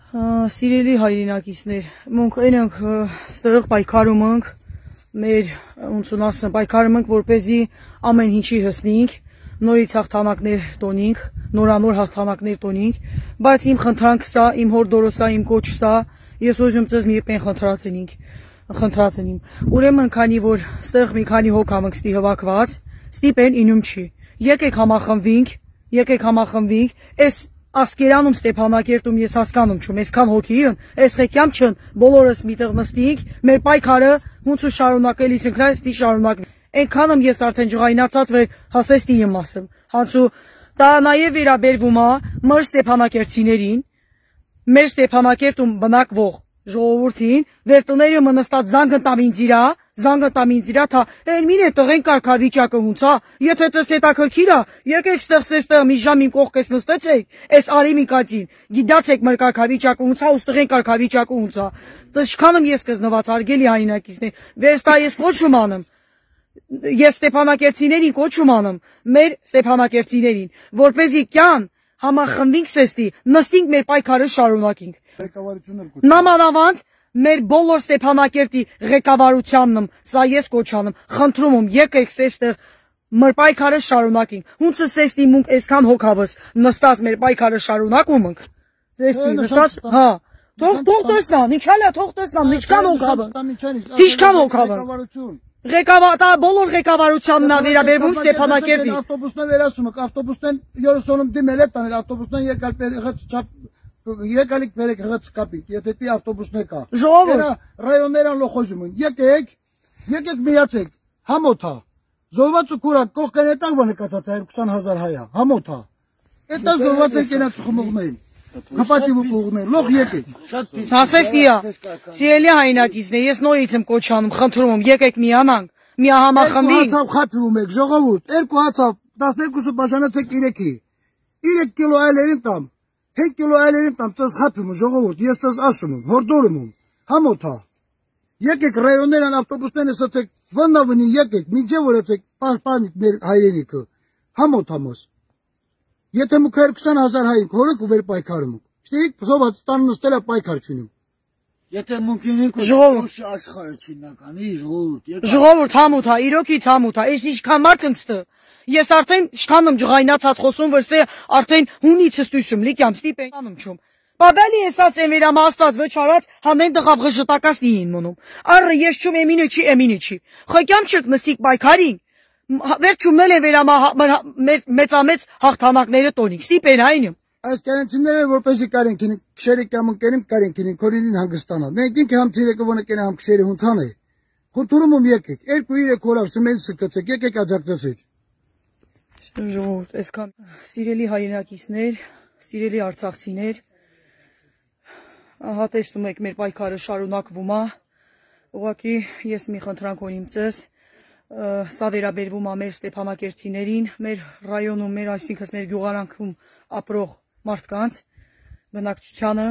Սիրելի հայրենակիցներ, մենք այնք ստեղ պայքարում ենք, մեր ոնց ասեմ, պայքարում ենք, որպեսզի ամեն ինչի հասնենք, նորից հաղթանակներ տոնենք, նորանոր հաղթանակներ տոնենք, բայց իմ խնդրանքը սա, իմ հորդորոսա, իմ կոչը սա, ես ուզում ծես մի պեն խնդրած եմ։ Ուրեմն քանի որ ստեղ մի քանի հոգ ամենք ստի հվակված, ստիպեն ինում չի։ Եկեք համախմբվենք, այս Ասկերանում Ստեփանակերտում ես հասկանում չում, այսքան հոգին, այս ղեկյամ չն, բոլորս միտեղ նստենք, մեր պայքարը ոնց ու շարունակելիս ինքնա ստի շարունակվի։ Այնքանում ես արդեն ջղայնացած վեր հասեստի եմ ասում։ Հանցու դա նաև վերաբերվում է մեր Ստեփանակերտցիներին, մեր Ստեփանակերտում բնակվող ժողովրդին, վերտները մնստած զանգտամին թա, այն մին է տղեն կարգավիճակը հունցա, եթե ծես հետաքրքիր է, եկեք ստեղ մի ժամ իմ կողքես նստեցեք, այս արիմի կածին, գիտացեք մեր կարգավիճակը հունցա, ու տղեն կարգավիճակը հունցա, տշքանում ես կզնված, արգելի հայրենակիցներ, վերստա ես կոչում անեմ, ես Ստեփանակերտցիներին կոչում անեմ, մեր Ստեփանակերտցիներին, որպեսզի կյան համախմբվենք սեստի, նստենք մեր պայքարը շարունակենք։ Նամանավանդ մեր բոլոր Ստեփանակերտի ղեկավարությանն սա ես կոչանում, խնդրում եմ, եկեք սեստեղ մեր պայքարը շարունակենք։ Հունցը սեստի մունք այսքան հոգավս նստած մեր պայքարը շարունակում ենք։ Սեստի նստած, հա, թող տեսնան, ինչ հալա, թող տեսնան, ինչքան հոգավը։ Ղեկավարը բոլոր ղեկավարությանն է վերաբերվում Ստեփանակերտի։ Ավտոբուսն վերասում եք, ավտոբուսն 30-ում դիմել է տանել, ավտոբուսն եկալիք բերեք հղած կապիկ, եթե պի ավտոբուսն է կա։ Ժողովուրդ ռայոններան լոխոզում են, եկեք միացեք, համոթա, զոհված ու կուրակ, կողքեն էտան վը նկացած է 20,000 հայա, համոթա, էտան զոհված են կենաց խմողներին, հպատիվ ու կողներ, լող եկեք։ Հասեստիա, սիրելի հայրենակիցներ, ես նորից եմ կոչանում, խնդրում եմ, եկեք միանանք, միահամախմբվենք։ 2 հացավ խաթվում եք, ժողովուրդ, 2 հացավ, 12-ը բաժանացեք 3-ի, 3 կիլո այլերին տամ, 5 կիլո այլերին տամ, տես խաթվում եմ, ժողովուրդ, ես տես ասում եմ, հորդորում եմ, համոթա, եկեք ռայոններան ավտոբուսներն ասացեք, վնավնի եկեք, մինչև որ եցեք, պահպանիք մեր հայրենիքը, համոթամոս, եթե մուք 20,000 հայինք, հորեք ու վեր պայքարում ենք, շտիկ, զոված տան նստել է պայքար չունիմ։ Եթե մունքինենք ու աշխարհը չիննականի, ժողովուրդ համոթա, իրոքից համոթա, այս ինչքան մարդ ընկստը, ես արդեն շքանում ջղայնացած խոսում վրսե արդեն հունիցս տույսում, լիկյամ ստիպեն անում չում։ Բաբելի էսած են վերամաստած վճարած հանեն դղավ ղժտակաս նիին մոնում։ Առը ես չում էմինը չի։ Խոկյամ չք նստիկ պայքարին, վերջումնել են մեծամեծ հաղթանակները տոնիկ, ստիպեն այնում։ Այս կերենցիները որպեսի կարենքին, քշերի կամ ընկերին կարենքին, քորինին հանգստանալ։ Մենք ինքը համ ցիրեկը ոնը կենա համ քշերի հունցան է։ Խնդրում եմ եկեք, 2-3 օրավ սմեն սկացեք, եկեք աջակցեք։ Ժողովուրդ, այսքան սիրելի հայրենակիցներ, սիրելի արցախցիներ, ահա տեսնում եք մեր պայքարը շարունակվում է, ուղղակի ես մի խնդրանք ունիմ ձեզ, սա վերաբերվում է մեր Ստեփանակերտցիներին, մեր ռայոնում, մեր այսինքն մեր գյուղարանքում ապրող մարդկանց բնակչությանը,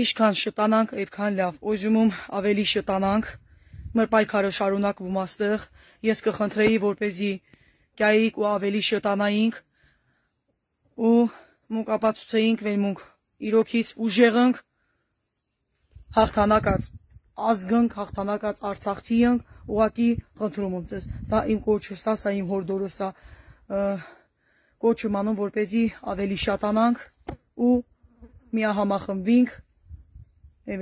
ինչքան շտանանք, այդքան լավ, ուզում եմ ավելի շտանանք, մեր պայքարը շարունակվում է ստեղ, ես կխնդրեի, որպեսզի կայիք ու ավելի շտանայինք ու մունք ապացուցեինք, որ մունք իրոքից ուժեղ ենք, հաղթանակած ազգանք, հաղթանակած արցախցի ենք, ուղղակի խնդրում եմ ձեզ, սա իմ կոչը, սա իմ հորդորը, կոչում անում, որպեսզի ավելի շատանանք ու միահամախմբվենք,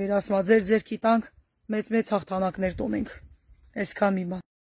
վերասմա ձեր ձերքի տանք, մեծ հաղթանակներ տոնենք, այսքան մի բան։